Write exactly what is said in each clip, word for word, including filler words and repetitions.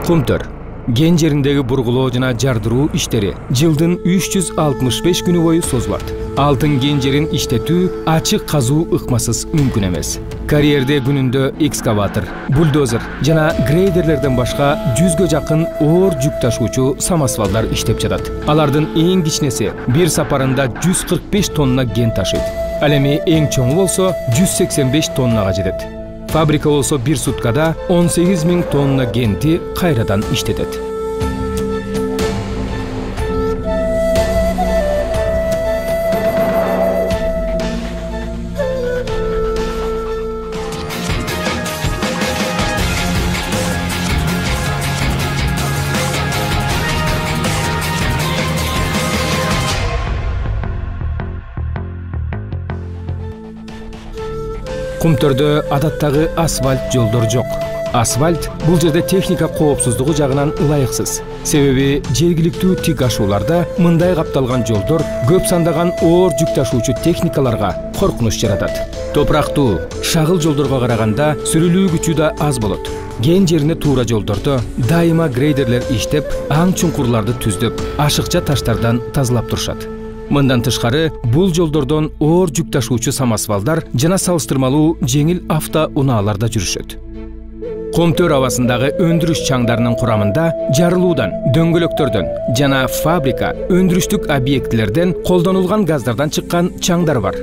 Кумтөр. Ген жериндеги бургулоо жана жардыруу иштери жылдын үч жүз алтымыш беш күнү бою созулат. Алтын ген жерин иштетүү ачык казуу ыкмасыз мүмкүн эмес. Карьерде күнүндө экскаватор, бульдозер жана грейдерлерден башка жүзгө жакын оор жүк ташуучу самосвалдар иштеп жатат. Алардын эң кичинеси бир сапарында жүз кырк беш тонна ген ташыйт. Ал эми эң чоңу болсо жүз сексен беш тоннага жетет. Фабрика болсо бир суткада он сегиз миң тонна генти кайрадан иштетет. Кумтөрдө адаттагы асфальт жолдор жок. Асфальт бул жерде техника коопсуздугу жагынан ылайыксыз. Себеби жергиликтүү тик ашууларда мындай капталган жолдор көп сандаган оор жүк ташуучу техникаларга коркунуч жаратат. Топурактуу, шагыл жолдорго караганда сүрүлүү күчү да аз болот. Ген жерине туура жолдордо дайыма грейдерлер иштеп, аң чуңкурларды түздөп, ашыкча таштардан тазалап турушат. Мындан тышкары, бул жолдордон оор жүк ташуучу самосвалдар жана салыштырмалуу жеңил авто унааларда жүрүшөт. Кумтөр абасындагы өндүрүш чаңдарынын курамында жарылуудан, дөңгөлөктөрдөн жана фабрика, өндүрүштүк объектилерден колдонулган газдардан чыккан чаңдар бар.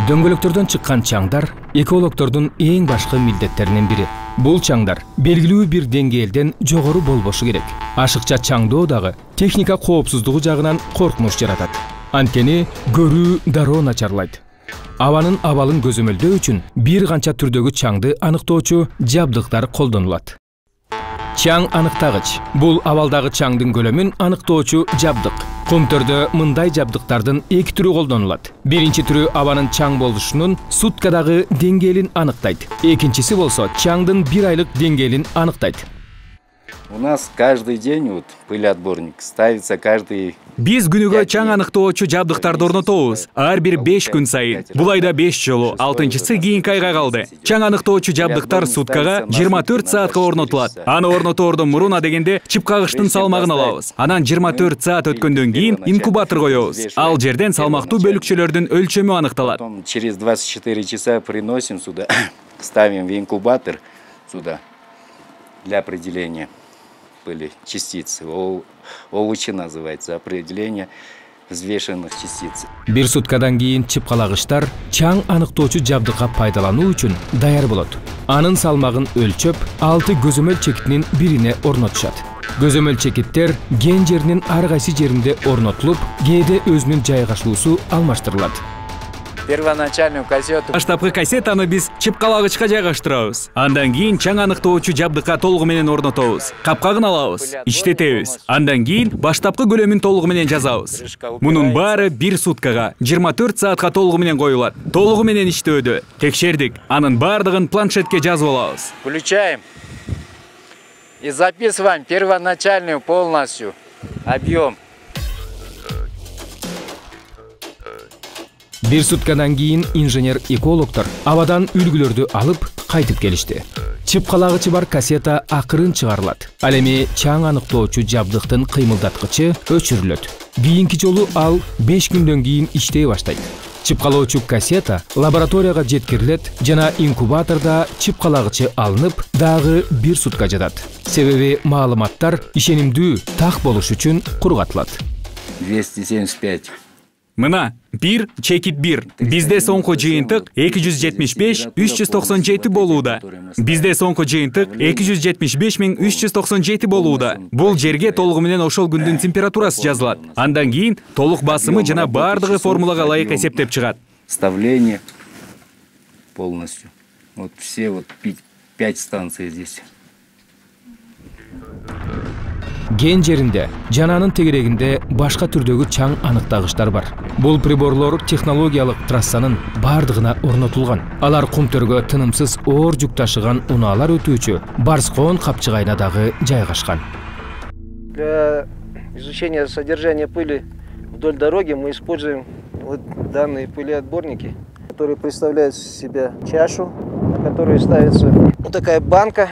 Дөңгөлөктөрдөн чыккан чаңдар экологдордун эң башкы милдеттеринин бири. Бул чаңдар белгилүү бир деңгээлден жогору болбошу керек. Ашыкча чаңдоо дагы техника коопсуздугу жагынан коркунуч жаратат. Анткени көрүү дароо начарлайт. Абанын абалын көзөмөлдөө үчүн бир канча түрдөгү чаңды аныктоочу жабдыктар колдонулат. Чаң аныктагыч. Бул абалдагы чаңдын көлөмүн аныктоочу жабдык. Кумтөрдө мындай жабдыктардын эки түрү колдонулат. Биринчи түрү абанын чаң болушунун суткадагы деңгээлин аныктайт. Экинчиси болсо чаңдын бир айлык деңгээлин аныктайт. У нас каждый день вот пылеотборник ставится каждый. Биз күнүгө чаң аныктоочу жабдыктарды орнотобуз. Ар бир беш күн сайын. Бул айда беш жолу, алтынчысы кийинки айга калды. Чаң аныктоочу жабдыктар суткага жыйырма төрт саатка орнотулат. Аны орнотоордон мурун адегенде чыпкагычтын салмагын алабыз. Анан жыйырма төрт саат өткөндөн кийин инкубатор коебуз. Ал жерден салмактуу бөлүкчөлөрдүн өлчөмү аныкталат. Через двадцать четыре часа приносим сюда, ставим в инкубатор сюда для определения были частицы. ОВЧ называется, определение взвешенных частиц. Бир суткадан кийин чыпкалагычтар чаң аныктоочу жабдыкка пайдалануу үчүн даяр болот. Анын салмагын өлчөп, алты көзөмөл чекитинин бирине орнотушат. Көзөмөл чекиттер ген жеринин ар кайсы жеринде орнотулуп, кээде өзүнүн жайгашуусу алмаштырылат. Первоначальную кассету. Баштапкы кассетаны биз чыпкалагычка жайгаштырабыз. Андан кийин чаң аныктоочу жабдыкка толугу менен орнотобуз. Капкагын алабыз, иштетебиз. Андан кийин баштапкы көлөмүн толугу менен жазабыз. Мунун баары бир суткага жыйырма төрт саатка толугу менен коюлат. Толугу менен иштөөдө текшердик. Анын баардыгын планшетке жазып алабыз. Включаем и записываем первоначальную полностью объем. Бир суткадан кийин инженер-экологдор абадан үлгүлөрдү алып кайтып келишти. Чыпкалагычы бар кассета акырын чыгарылат. Ал эми чаң аныктоочу жабдыктын кыймылдаткычы өчүрүлөт. Кийинки жолу ал беш күндөн кийин иштей баштайт. Чыпкалоочу кассета лабораторияга жеткирилет жана инкубаторда чыпкалагычы алынып, дагы бир сутка жатат. Себеби маалыматтар ишенимдүү так болуш үчүн кургатылат. двести семьдесят пять. Мына бир чекит бир. Бизде соңку жыйынтык эки жүз жетимиш беш үч жүз токсон жети болууда. Бизде соңку жыйынтык эки жүз жетимиш беш миң үч жүз токсон жети болууда. Бул жерге толугу менен ошол күндүн температурасы жазылат. Андан кийин толук басымы жана баардыгы формулага ылайык эсептеп чыгат. Вставление полностью. Вот все вот пять станций здесь. Ген жеринде жана анын тегерегинде башка түрдөгү чаң аныктагычтар бар. Бул приборлор технологиялык трассанын бардыгына орнотулган. Алар Кумтөргө тынымсыз оор жүк ташыган унаалар өтүүчү Барскоон капчыгайына дагы жайгашкан. Для изучения содержания пыли вдоль дороги мы используем вот данные пылеотборники, которые представляют из себя чашу, которую ставится вот такая банка,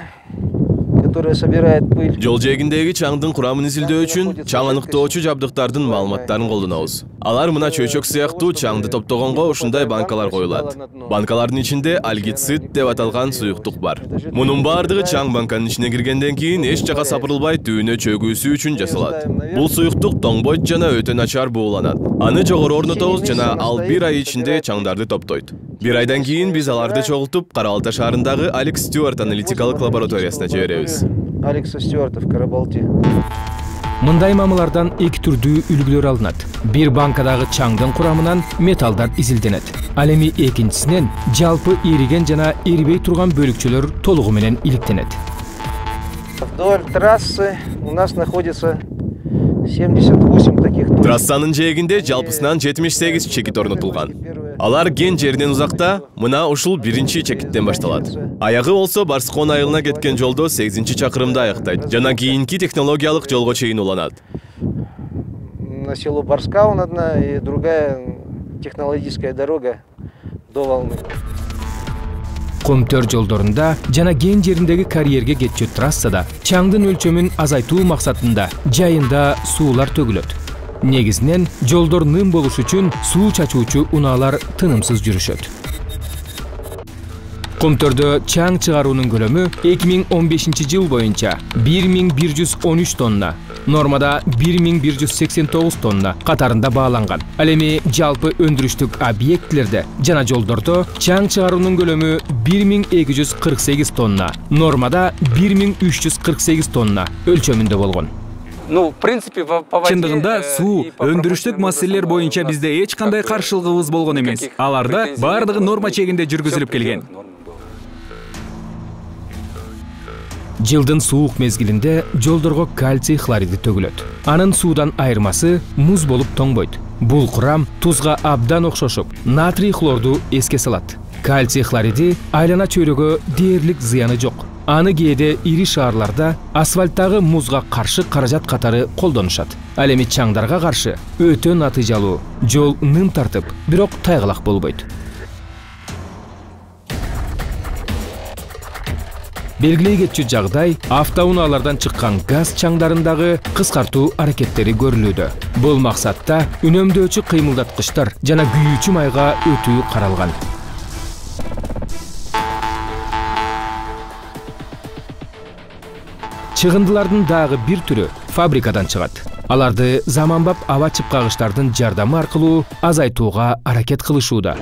которая собирает пыль. Жол жээгиндеги чаңдын курамын изилдөө үчүн чаң аныктоочу жабдыктардын маалыматтарын колдонобуз. Алар мына чөйчөк сыяктуу чаңды топтогонго ушундай банкалар коюлат. Банкалардын ичинде альгицид деп аталган суюктук бар. Мунун баардыгы чаң банканын ичине киргенден кийин эч жака сапырылбай түйүнө чөгүүсү үчүн жасалат. Бул суюктук тоңбойт жана өтө начар бууланат. Аны жогору орнотобуз жана ал бир ай ичинде чаңдарды топтойт. Бир айдан кийин биз аларды чогултуп Кара Балта шаарындагы Алекс Стюарт аналитикалык лабораториясына жиберебиз. Алекса Стюарта в Кара Балте. Мындай мамылардан эки түрдүү үлгүлөр алынат. Бир банкадагы чаңдын курамынан металлдар изилденет. Ал эми экинчисинен жалпы эриген жана эрибей турган бөлүкчөлөр толугу менен иликтенет. Вдоль трассы у нас находится семьдесят восемь таких точек. Трассанын жээгинде жалпысынан жетимиш сегиз чекит орнотулган. Алар кен жерден узакта, мына ушул биринчи чекиттен башталат. Аягы болсо Барскон айылына кеткен жолдо сегизинчи чакырымда аяктайт. Жана кийинки технологиялык жолго чейин уланат. На село Барскаун одна и другая технологическая дорога до Волны. Комтөр жолдорунда жана кен жериндеги карьерге кетчү трассада чаңдын өлчөмүн азайтуу максатында жайында суулар төгүлөт. Негизинен жолдор ным болуш үчүн суу чачуучу унаалар тынымсыз жүрүшөт. Комтөрдө чаң чыгаруунун көлөмү эки миң он бешинчи жыл боюнча бир миң бир жүз он үч тонна, нормада бир миң бир жүз сексен тогуз тонна катарында бааланган. Ал эми жалпы өндүрүштүк объектилерде жана жолдордо чаң чыгаруунун көлөмү бир миң эки жүз кырк сегиз тонна, нормада бир миң үч жүз кырк сегиз тонна өлчөмүндө болгон. Чындыгында суу, өндүрүштүк маселелер боюнча бизде эч кандай каршылыгыбыз болгон эмес. Аларда баардыгы норма чегинде жүргүзүлүп келген. Жылдын суук мезгилинде жолдорго кальций хлориди төгүлөт. Анын суудан айырмасы муз болуп тоңбойт. Бул курам тузга абдан окшошуп, натрий хлорду эске салат. Кальций хлориди айлана чөйрөгө дээрлик зыяны жок. Аны кээде ири шаарларда асфальттагы музга каршы каражат катары колдонушат. Ал эми чаңдарга каршы өтө натыйжалуу. Жол ным тартып, бирок тайгалак болбойт. Белгилей кетчү жагдай автоунаалардан чыккан газ чаңдарындагы кыскартуу аракеттери көрүлүүдө. Бул максатта үнөмдөөчү кыймылдаткычтар жана күйүүчү майга өтүү каралган. Чыгындылардын дагы бир түрү фабрикадан чыгат. Аларды заманбап аба чыпкагычтардын жардамы аркылуу азайтууга аракет кылышууда.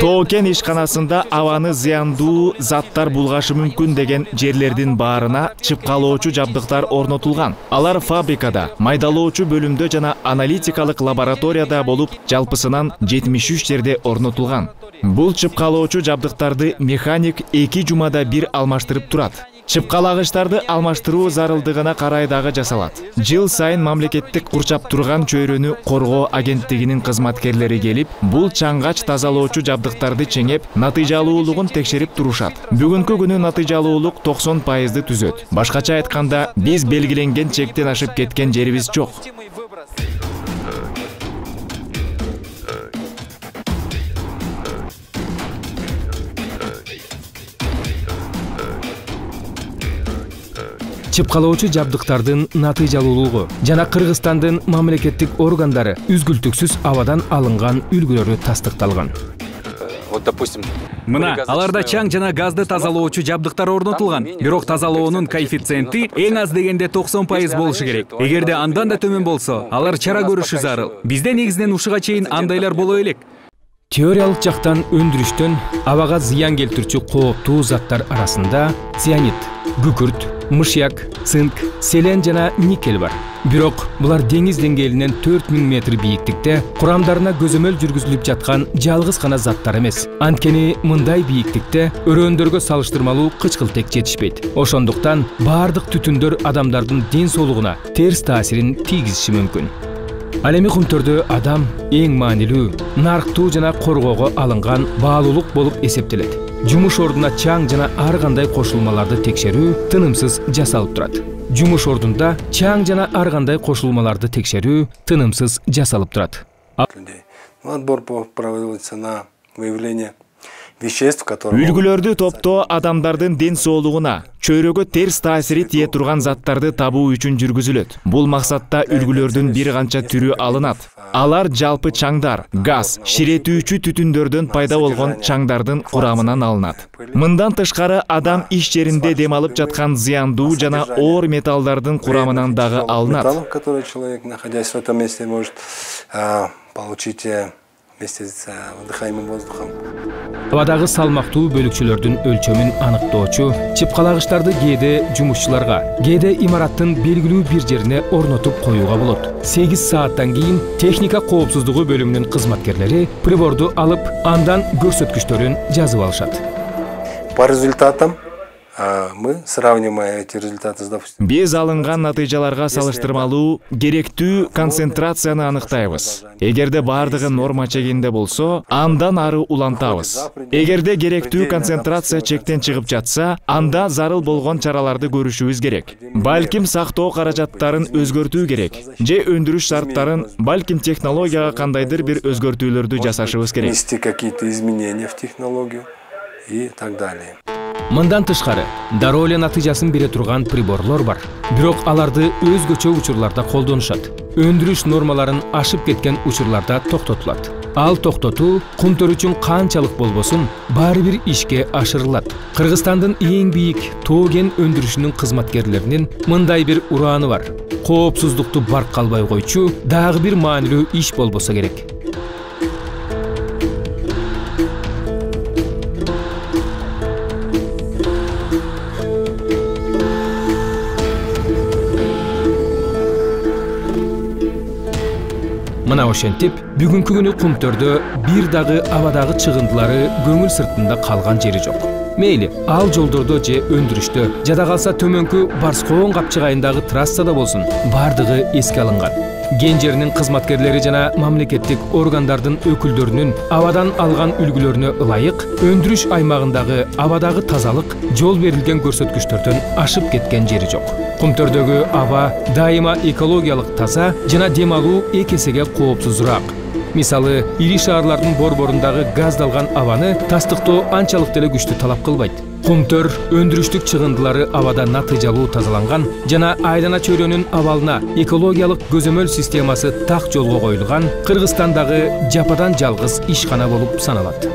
Тоо-кен ишканасында абаны зыяндуу заттар булгашы мүмкүн деген жерлердин баарына чыпкалоочу жабдыктар орнотулган. Алар фабрикада, майдалоочу бөлүмдө жана аналитикалык лабораторияда болуп, жалпысынан жетимиш үч жерде орнотулган. Бул чыпкалоочу жабдыктарды механик эки жумада бир алмаштырып турат. Чыпкалагычтарды алмаштыруу зарылдыгына карай дагы жасалат. Жыл сайын мамлекеттик курчап турган чөйрөнү коргоо агенттигинин кызматкерлери келип, бул чаңгач тазалоочу жабдыктарды чеңеп, натыйжалуулугун текшерип турушат. Бүгүнкү күнү натыйжалуулук токсон пайызды түзөт. Башкача айтканда, биз белгиленген чектен ашып кеткен жерибиз жок. Чыпкалоочу жабдыктардын натыйжалуулугу жана Кыргызстандын мамлекеттик органдары үзгүлтүксүз абадан алынган үлгүлөрү тастыкталган. Мына, аларда чаң жана газды тазалоочу жабдыктар орнотулган. Бирок тазалоонун коэффициенти эң аз дегенде токсон пайыз болушу керек. Эгерде андан да төмөн болсо, алар чара көрүшү зарыл. Бизде негизинен ушуга чейин андайлар боло элек. Теориялык жактан өндүрүштөн абага зыян келтирүүчү кооптуу заттар арасында цианид, күкүрт, мышьяк, цинк, селен жана никель бар. Бирок булар деңиз деңгээлинен төрт миң метр бийиктикте курамдарына көзөмөл жүргүзүлүп жаткан жалгыз гана заттар эмес. Анткени мындай бийиктикте өрөөндөргө салыштырмалуу кычкылтек жетишпейт. Ошондуктан баардык түтүндөр адамдардын ден соолугуна терс таасирин тийгизиши мүмкүн. Ал эми Кумтөрдө адам эң маанилүү, нарктуу жана коргоого алынган баалуулук болуп эсептелет. Жумуш ордуна чаң жана ар кандай кошулмаларды текшерүү тынымсыз жасалып турат. Жумуш ордунда чаң жана ар кандай кошулмаларды текшерүү тынымсыз жасалып турат. Отбор проводится на выявления веществ, которые... Үлгүлөрдү топтоо адамдардын ден соолугуна, чөйрөгө терс таасири тие турган заттарды табуу үчүн жүргүзүлөт. Бул максатта үлгүлөрдүн бир канча түрү алынат. Алар жалпы чаңдар, газ, ширетүүчү түтүндөрдөн пайда болгон чаңдардын курамынан алынат. Мындан тышкары адам иш жеринде дем алып жаткан зыяндуу жана оор металлдардын курамынан дагы алынат. Который человек, находясь в этом месте, может получить вместе с выдыхаемым воздухом. Абадагы салмактуу бөлүкчөлөрдүн өлчөмүн аныктоочу чыпкалагычтарды кээде жумушчуларга, кээде имараттын белгилүү бир жерине орнотуп коюуга болот. сегиз сааттан кийин техника коопсуздугу бөлүмүнүн кызматкерлери приборду алып, андан көрсөткүчтөрүн жазып алышат. По результатам мы сравниваем эти результаты с, допустим... Биз алынган натыйжаларга салыштырмалуу керектүү концентрацияны аныктайбыз. Эгерде бардыгы норма чегинде болсо, андан ары улантабыз. Эгерде керектүү концентрация чектен чыгып жатса, анда зарыл болгон чараларды көрүшүбүз керек. Балким сактоо каражаттарын өзгөртүү керек, же өндүрүш шарттарын, балким технологияга кандайдыр бир өзгөртүүлөрдү жасашыбыз керек. Внести какие-то изменения в технологию и так далее. Мындан тышкары, дароо эле натыйжасын бере турган приборлор бар. Бирок аларды өзгөчө учурларда колдонушат. Өндүрүш нормаларын ашып кеткен учурларда токтотулат. Ал токтотуу кумтөр үчүн канчалык болбосун, баары бир ишке ашырылат. Кыргызстандын эң бийик тоо кен өндүрүшүнүн кызматкерлеринин мындай бир урааны бар. Коопсуздукту барк калбай койчу дагы бир маанилүү иш болбосо керек. Мына ошентип, бүгүнкү күнү Кумтөрдө бир дагы абадагы чыгындылары көңүл сыртында калган жери жок. Мейли, ал жолдордо же өндүрүштө, жада калса төмөнкү Барскоон капчыгайындагы трассада болсун, бардыгы эске алынган. Кен жеринин кызматкерлери жана мамлекеттик органдардын өкүлдөрүнүн абадан алган үлгүлөрүнө ылайык өндүрүш аймагындагы абадагы тазалык жол берилген көрсөткүчтөрдөн ашып кеткен жери жок. Кумтөрдөгү аба дайыма экологиялык таза жана дем алуу эки эсеге коопсузураак. Мисалы, ири шаарлардын борборундагы газдалган абаны тастыктоо анчалык деле күчтүү талап кылбайт. Кумтөр өндүрүштүк чыгындылары абада натыйжалуу тазаланган жана айлана чөйрөнүн абалына экологиялык көзөмөл системасы так жолго коюлган Кыргызстандагы жападан жалгыз ишкана болуп саналат.